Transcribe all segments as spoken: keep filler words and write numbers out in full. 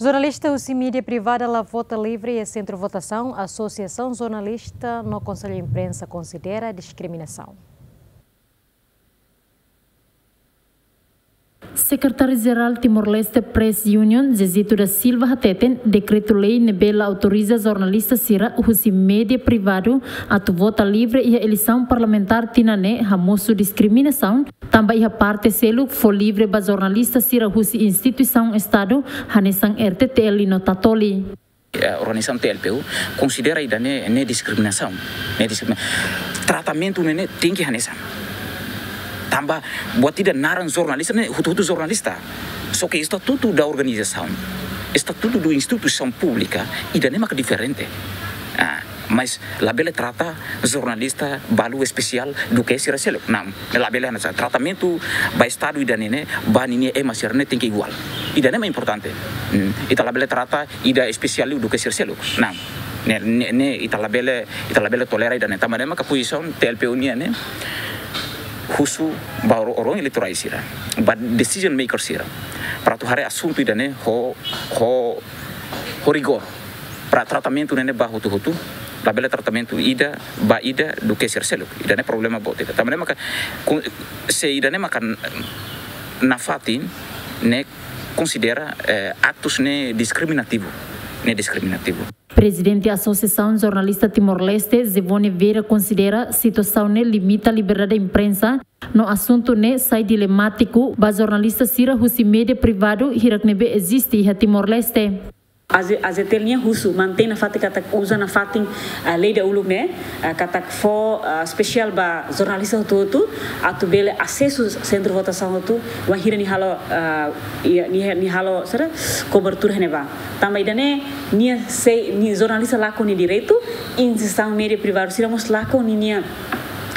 Jornalista husi mídia privada la vota livre iha sentru votasaun, Asosiasaun Jornalista no Konsellu Imprensa konsidera diskriminasaun. Sekretáriu-Jerál Timor-Leste Press Union, Zezito da Silva hateten, dekretu-lei ne'ebé la autoriza jornalista sira husi mídia privadu atu vota livre iha eleisaun parlamentár tinan ne'e hamosu diskriminasaun, tanba iha parte seluk fó livre ba jornalista sira husi instituisaun Estadu, hanesan R T T L no Tatoli. Eh, organizasaun T L P U konsidera ida-ne'e, ne'e diskriminasaun, ne'e diskrimina-, tratamentu ne'e, ne'e tenke hanesan. Tanba buat ida naran jornalista ne'e, hotu-hotu jornalista. Só ke estatutu da organizasaun, estatutu da instituisaun públika, ida-ne'e maka diferente. Ah, mas labele trata jornalista balu espesiál duké sira seluk. Não, labele hanesan. Tratamentu ba Estadu ida-ne'e, ne'e, ba ninia ema sira-ne'e tenke iguál. Ida-ne'e mak importante. Hmm, ita labele trata ida espesiál liu duké sira seluk. Não. Ne'e, ne'e, ne'e ita labele, ita labele tolera ida-ne'e. Tanba ne'e maka pozisaun T L P U nian ne'e husu ba or-, órgaun eleitorál sira, ba decision maker sira, para atu haree asuntu ida-ne'e ho, ho, ho rigór. Para tratamentu ne'e, ne'e ba hotu-hotu, labele tratamentu ida ba ida duké sira seluk. Ida-ne'e problema boot ida. Tanba ne'e maka, ku-, se ida-ne'e maka nafatin, ne'e konsidera, eh, aktus ne'e diskriminativu, ne'e diskriminativu. Prezidente Asosiasaun Jornalista Timor-Leste, Zevone Vieira, konsidera situasaun ne'e limita liberdade imprensa, no asuntu ne'e sai dilemátiku ba jornalista sira husi mídia privadu hirak ne'ebé eziste iha Timor-Leste. A Z-, A Z T L nia husu mantein nafatin katak uza nafatin, ah, lei dahuluk ne'e, ah, katak fó, ah, espesiál ba jornalista hotu-hotu atu bele asesu sentru votasaun hotu, wainhira nia halo, ah, iha, nia, nia halo, sira, kobertura iha ne'ebá. Tanba ida-ne'e, nia sei, nia jornalista lakon nia direitu, instituisaun mídia privadu sira mós lakon ninia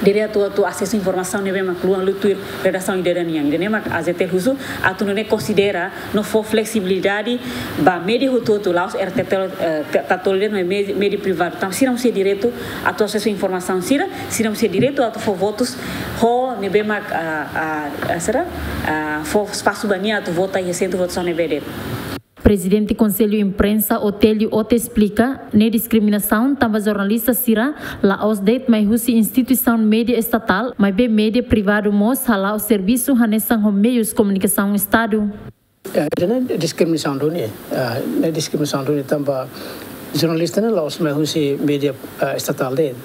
direitu atu asesu informasaun ne'ebé mak luan liu tuir redasaun ida-idak nian. Ida-ne'e mak A Z T L husu atu nune'e konsidera no fó fleksibilidade ba mídia hotu-hotu, la'ós R T T L, eh, Ta-, Tatoli de'it, mas mídia, mídia privadu. Tanba sira mós iha direitu atu asesu informasaun sira, sira mós iha direitu atu fó votus ho ne'ebé mak, ah, ah, ah, sira, ah, fó espasu ba nia atu vota iha sentru votasaun ne'ebé de'it. Prezidente Konsellu Imprensa, Otélio Ote, esplika, ne'e diskriminasaun tanba jornalista sira la'ós de'it mai husi instituisaun mídia estatál, maibé mídia privadu mós hala'o servisu hanesan ho meius komunikasaun Estadu. Eh, ida-ne'e diskriminasaun duni, eh, ne'e diskriminasaun duni tanba jornalista ne'e la'ós mai husi mídia, eh, estatál de'it.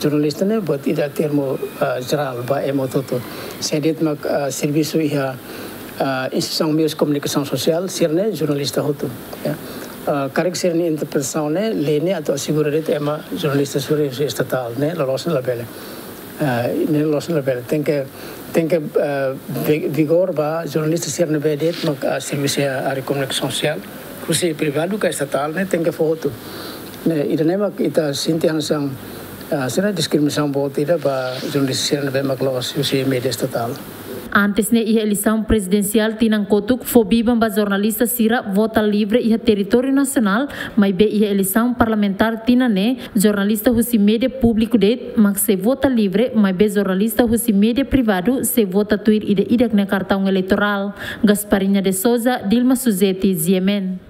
Jornalista ne'e buat ida termu, eh, jerál ba ema hotu-hotu. Sé de'it mak, eh, servisu iha, eh, instituisaun meius komunikasaun sosiál, sira-ne'e jornalista hotu, ya. Eh, karik sira-nia interpretasaun ne'e, lei ne'e atu asegura de'it ema jornalista sira husi estatál ne'e, loloos ne'e labele. Eh, ne'e loloos ne'e labele. Tenke, tenke, eh, vi-, vigór ba jornalista sira ne'ebé de'it mak, eh, servisu iha área komunikasaun sosiál, husi privadu ka estatál ne'e tenke fó hotu. Ne'e, ida-ne'e mak ita sente hanesan, ah, sira diskriminasaun boot ida ba jornalista sira ne'ebé mak la'ós husi mídia estatál. Antes ne'e iha eleisaun prezidensiál tinan kotuk fó biban ba jornalista sira vota livre iha territóriu nasionál, maibé iha eleisaun parlamentár tinan ne'e jornalista husi mídia públiku de'it mak sei vota livre, maibé jornalista husi mídia privadu sei vota tuir ida-idak nia kartaun eleitorál. Gasparinha de Souza, Dilma Suzeti, G M N.